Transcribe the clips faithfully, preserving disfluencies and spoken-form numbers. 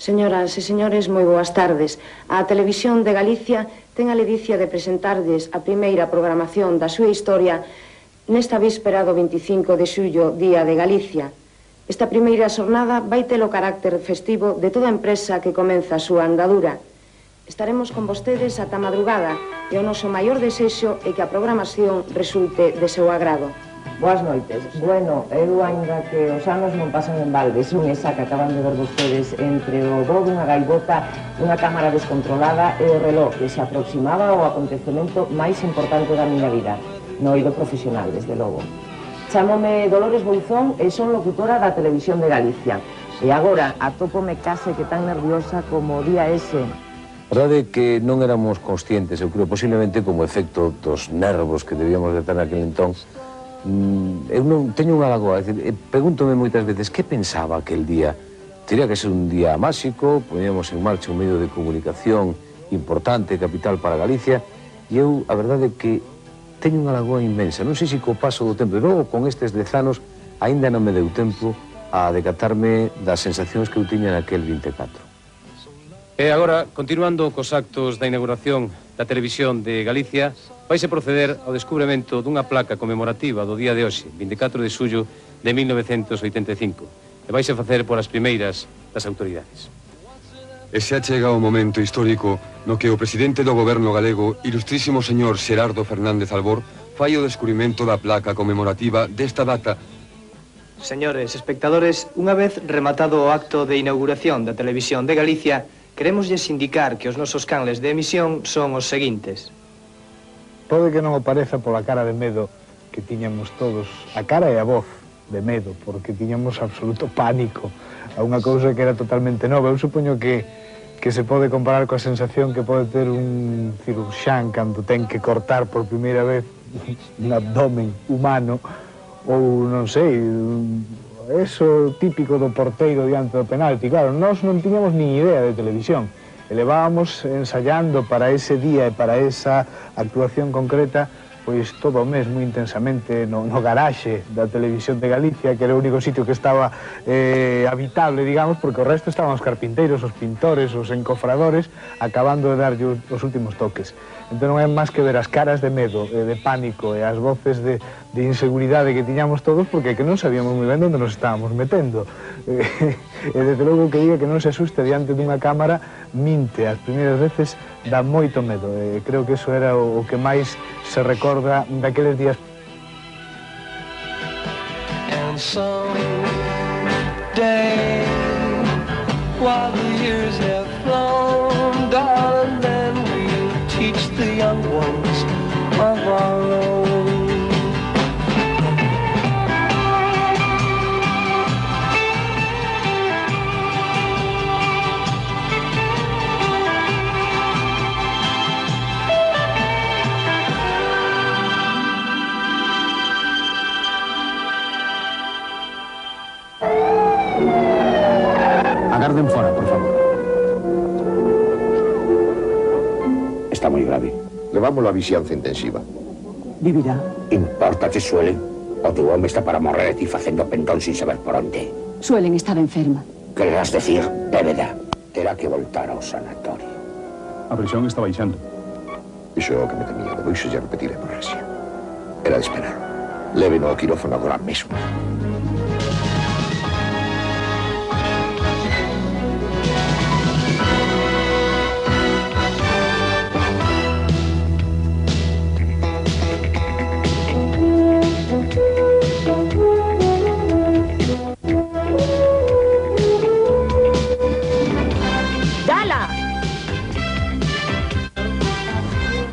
Señoras e señores, moi boas tardes. A Televisión de Galicia ten a ledicia de presentardes a primeira programación da súa historia nesta víspera do veinticinco de xullo, Día de Galicia. Esta primeira xornada vai ter o carácter festivo de toda empresa que comeza a súa andadura. Estaremos con vostedes ata madrugada e o noso maior desexo é que a programación resulte de seu agrado. Boas noites. Bueno, eu ainda que os anos non pasan en balde, son esa que acaban de ver vostedes entre o voo dunha gaivota, unha cámara descontrolada e o reloj que se aproximaba ao acontecemento máis importante da miña vida, no eido profesional, desde logo. Chámome Dolores Bouzón e son locutora da Televisión de Galicia. E agora atópome case que tan nerviosa como o día ese. A verdade é que non éramos conscientes, eu creo, posiblemente como efecto dos nervos que debíamos de ter naquele entón. Eu non teño unha lagoa, pregúntome moitas veces que pensaba aquel día. Tería que ser un día máxico, poñíamos en marcha un medio de comunicación importante, capital para Galicia, e eu, a verdade é que teño unha lagoa inmensa. Non sei se co paso do tempo, e logo con estes dez anos, aínda non me deu tempo a decatarme das sensacións que eu tiña naquel vinte e catro. E agora, continuando cos actos da inauguración da Televisión de Galicia, vaise proceder ao descubrimento dunha placa conmemorativa do día de hoxe, vinte e catro de xullo de mil novecentos oitenta e cinco, e vaise facer por as primeiras das autoridades. E se achega o momento histórico no que o presidente do goberno galego, ilustrísimo señor Xerardo Fernández Albor, fai o descubrimento da placa conmemorativa desta data. Señores espectadores, unha vez rematado o acto de inauguración da Televisión de Galicia, queremosles indicar que os nosos canles de emisión son os seguintes. Pode que non o pareza pola cara de medo que tiñamos todos, a cara e a voz de medo, porque tiñamos absoluto pánico a unha cousa que era totalmente nova. Eu supoño que, que se pode comparar coa sensación que pode ter un cirurxán cando ten que cortar por primeira vez un abdomen humano, ou non sei, eso típico do porteiro diante do penalti. Claro, nós non tiñamos nin idea de televisión. Elevábamos ensayando para ese día e para esa actuación concreta pois todo o mes moi intensamente no, no garaxe da Televisión de Galicia, que era o único sitio que estaba eh, habitable, digamos, porque o resto estaban os carpinteiros, os pintores, os encofradores, acabando de darlle os últimos toques. Entón non é máis que ver as caras de medo, e de pánico e as voces de, de inseguridade que tiñamos todos, porque que non sabíamos moi ben onde nos estábamos metendo. E, e desde logo que diga que non se asuste diante dunha cámara, minte. As primeiras veces dá moito medo. E creo que eso era o, o que máis se recorda daqueles días. And someday, while the years have flown, darling, then we'll teach the young ones of our own. Agarden fora, por favor. Está moi grave. Levámoslo a vixianza intensiva. Vivirá. Importa que suelen. O tu home está para morrer e ti facendo pendón sin saber por onde. Suelen estar enferma. Quererás decir, débeda. Terá que voltar ao sanatorio. A presión está baixando. Iso é o que me temía. Depois lle repetiré por rexia. Era de esperar. Léveno ao quirófano agora mesmo.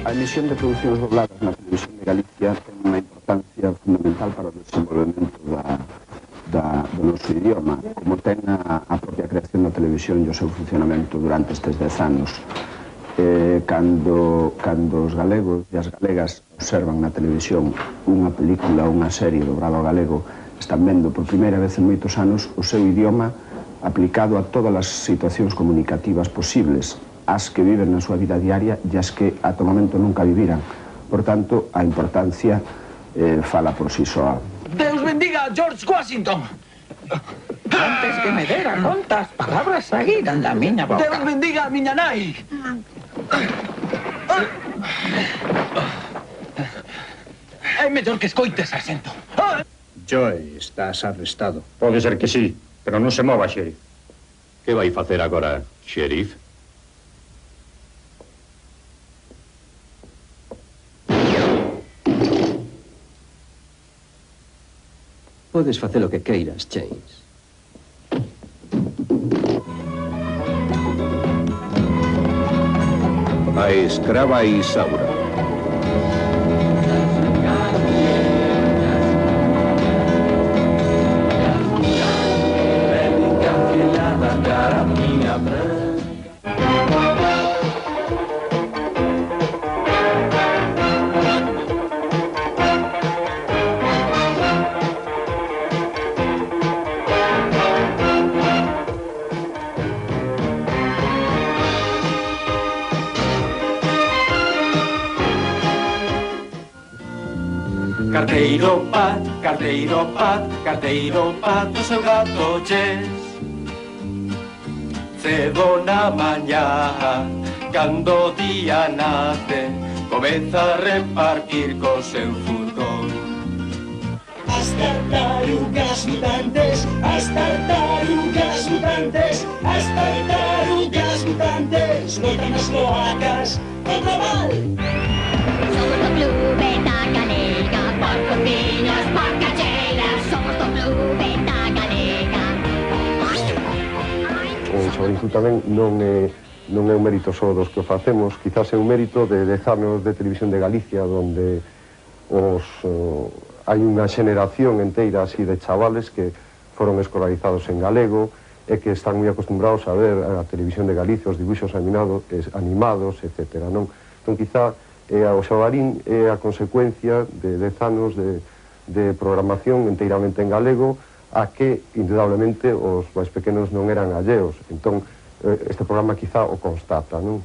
A emisión de producións dobladas na Televisión de Galicia ten unha importancia fundamental para o desenvolvemento da, da, do noso idioma, como ten a, a propia creación da televisión e o seu funcionamento durante estes dez anos. Eh, cando, cando os galegos e as galegas observan na televisión unha película ou unha serie dobrada ao galego, están vendo por primeira vez en moitos anos o seu idioma aplicado a todas as situacións comunicativas posibles, as que viven na súa vida diaria e as que ata o momento nunca viviran. Por tanto, a importancia eh, fala por si soa. Deus bendiga a George Washington! Antes que me dera contas palabras saíran da miña boca. Deus bendiga a miña nai. É mellor que escoites, sargento. Joe, estás arrestado. Pode ser que sí, pero non se mova, xerif. Que vai facer agora, xerif? Podes facer o que queiras, Chase. A escrava Isaura. Carteiro pat, carteiro pat, carteiro pat, o seu gato ches. Cedo na mañá, cando o día nace, comeza a repartir co seu furgón. As tartarugas mutantes, as tartarugas mutantes, as tartarugas mutantes, loitan nas cloacas contra o mal. Somos do clube da galega, por copiñas, por cacheiras, somos do clube da galega. O Xabanzú tamén non é, non é un mérito só dos que o facemos, quizás é un mérito de dez anos de Televisión de Galicia, onde os, uh, hai unha xeneración enteira así de chavales que foron escolarizados en galego e que están moi acostumbrados a ver a Televisión de Galicia, os dibuixos animados, animados, etcétera. Non? Entón, quizá E o Xabarín é a consecuencia de dez anos de, de programación enteiramente en galego a que, indudablemente, os máis pequenos non eran alleos. Entón, este programa quizá o constata, non?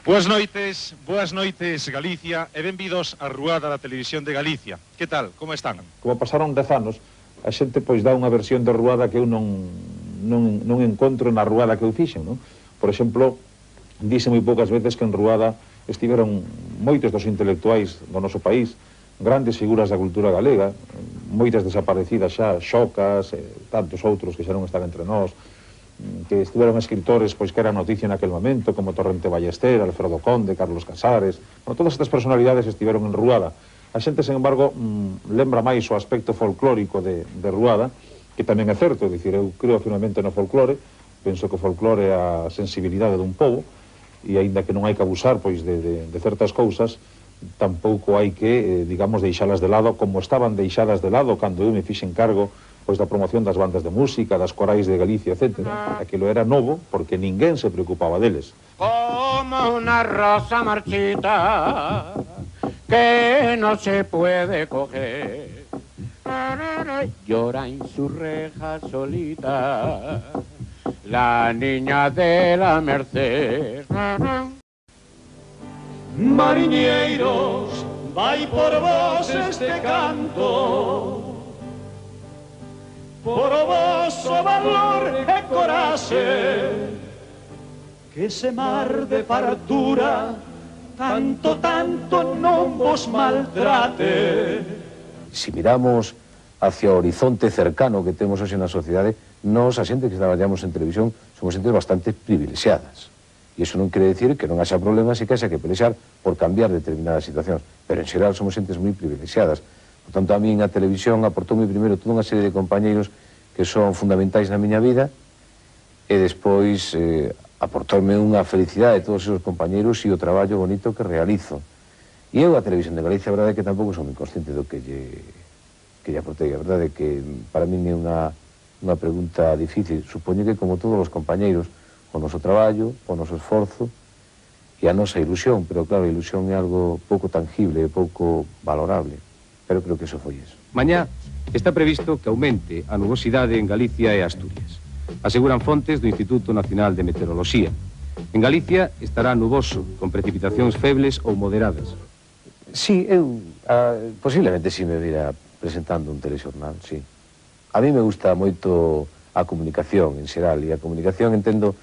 Boas noites, boas noites Galicia e benvidos á Ruada da Televisión de Galicia. Que tal, como están? Como pasaron dez anos, a xente pois dá unha versión de Ruada que eu non, non, non encontro na Ruada que eu fixen, non? Por exemplo, dice moi poucas veces que en Ruada estiveron moitos dos intelectuais do noso país, grandes figuras da cultura galega, moitas desaparecidas xa, Xocas, e tantos outros que xa non están entre nós, que estiveron escritores pois que eran noticia naquel momento, como Torrente Ballester, Alfredo Conde, Carlos Casares. Bueno, todas estas personalidades estiveron en Ruada. A xente, sen embargo, mmm, lembra máis o aspecto folclórico de, de Ruada, que tamén é certo, é dicir, eu creo finalmente no folclore, penso que o folclore é a sensibilidade dun pobo, e aínda que non hai que abusar pois de, de, de certas cousas, tampouco hai que, eh, digamos, deixalas de lado, como estaban deixadas de lado cando eu me fixen cargo pois da promoción das bandas de música, das corais de Galicia, etcétera. Aquilo era novo porque ninguén se preocupaba deles. Como una rosa marchita que no se puede coger, llora en su reja solita la niña de la Merced. Mariñeiros, vai por vos este canto, por o vosso valor e coraxe, que ese mar de fartura tanto, tanto non vos maltrate. Si miramos hacia o horizonte cercano que temos hoxe na sociedade, nós, a xente que traballamos en televisión, somos xentes bastante privilexiadas. E iso non quere decir que non haxa problemas e que haxa que pelexar por cambiar determinadas situacións, pero en xeral somos xentes moi privilexiadas. Por tanto, a mí a televisión aportoume primeiro toda unha serie de compañeiros que son fundamentais na miña vida e despois eh, aportoume unha felicidade de todos esos compañeiros e o traballo bonito que realizo. E eu, a Televisión de Galicia, a verdade é que tampouco son moi consciente do que lle, que lle aportei. A verdade é que para min é unha, unha pregunta difícil. Supoño que, como todos os compañeiros, o noso traballo, o noso esforzo e a nosa ilusión, pero claro, a ilusión é algo pouco tangible, pouco valorable. Pero creo que eso foi eso. Mañá está previsto que aumente a nubosidade en Galicia e Asturias. Aseguran fontes do Instituto Nacional de Meteoroloxía. En Galicia estará nuboso, con precipitacións febles ou moderadas. Sí, eu ah, posiblemente si me vira presentando un telexornal, sí. A mí me gusta moito a comunicación en xeral, e a comunicación entendo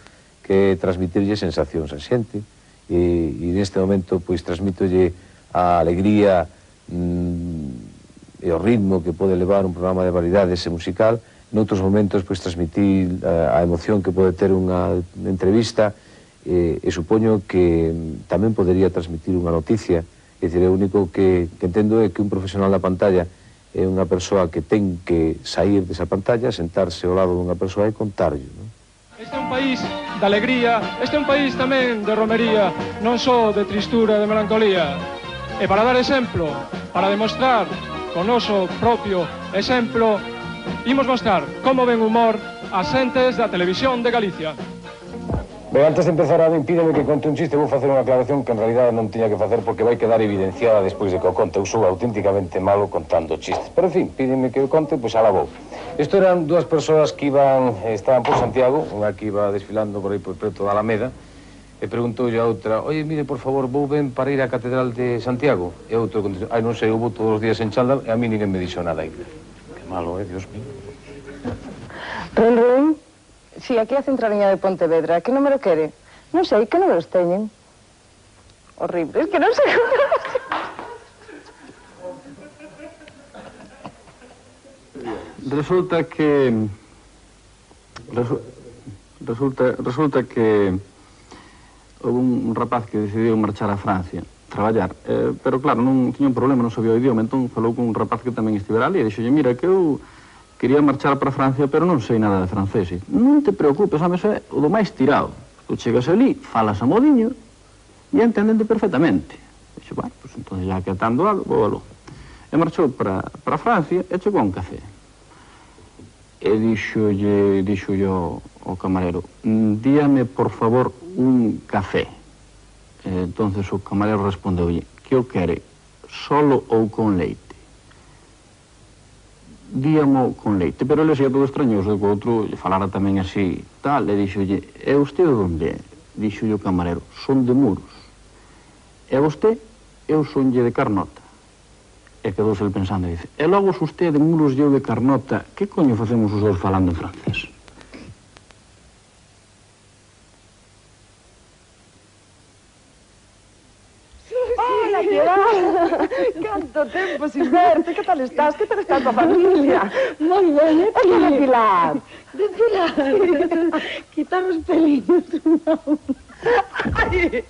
que transmitirlle sensacións a xente, e, e neste momento pois transmitolle a alegría mm, e o ritmo que pode levar un programa de variedades e musical. Noutros momentos pois transmitir a, a emoción que pode ter unha entrevista, e, e supoño que tamén podería transmitir unha noticia. É dicir, o único que, que entendo é que un profesional da pantalla é unha persoa que ten que sair desa pantalla, sentarse ao lado dunha persoa e contarlle, non? Este é un país de alegría, este é un país tamén de romería, non só de tristura, de melancolía. E para dar exemplo, para demostrar con noso propio exemplo, imos mostrar como ven humor as xentes da Televisión de Galicia. Ben, antes de empezar, a mí pídeme que conte un chiste, vou facer unha aclaración que en realidad non tiña que facer porque vai quedar evidenciada despois de que o conte. Eu sou auténticamente malo contando chistes. Pero, en fin, pídeme que o conte, pois ala vou. Isto eran dúas persoas que iban, estaban por Santiago, unha que iba desfilando por aí por preto da Alameda, e preguntoulle a outra, oye, mire, por favor, vou ben para ir á Catedral de Santiago? E outro contestou, ai, non sei, eu vou todos os días en chándal e a mí ninguén me dixo nada ainda. Que malo, eh, Dios mío. Ren, ren. Si, aquí a Centraliña de Pontevedra. Que número quere? Non sei, que números teñen? Horrible, es que non sei como... Resulta que... Resu... Resulta, resulta que... Houve un rapaz que decidiu marchar a Francia, traballar. Eh, pero claro, non tiña un problema, non sabía o idioma, entón falou con un rapaz que tamén estivera ali e dixolle, mira, que eu... quería marchar para Francia, pero non sei nada de francés. Non te preocupes, home, eso é o do máis tirado. Tu chegas ali, falas a modiño e entendente perfectamente. Dixe, bueno, pues entonces ya que atando algo, vou aló. E marchou para, para Francia e chegou a un café. E dixolle, dixolle ao, ao camarero, díame, por favor, un café. E entonces o camarero respondeulle, que o quere, solo ou con leite? Díamo con leite, pero ele sea todo extrañoso, que o outro falara tamén así, tal, e dixolle, e usted onde é? Dixolle o camarero, son de Muros. E vosté, eu sonlle de Carnota. E quedouse el pensando e dice, e logo se usted de Muros e eu de Carnota, que coño facemos os dous falando en francés? Canto tempo sin verte, que tal estás? Que tal está a tua familia? Moi ben, e que de Pilar? De Pilar, quitar os peliños. Ai.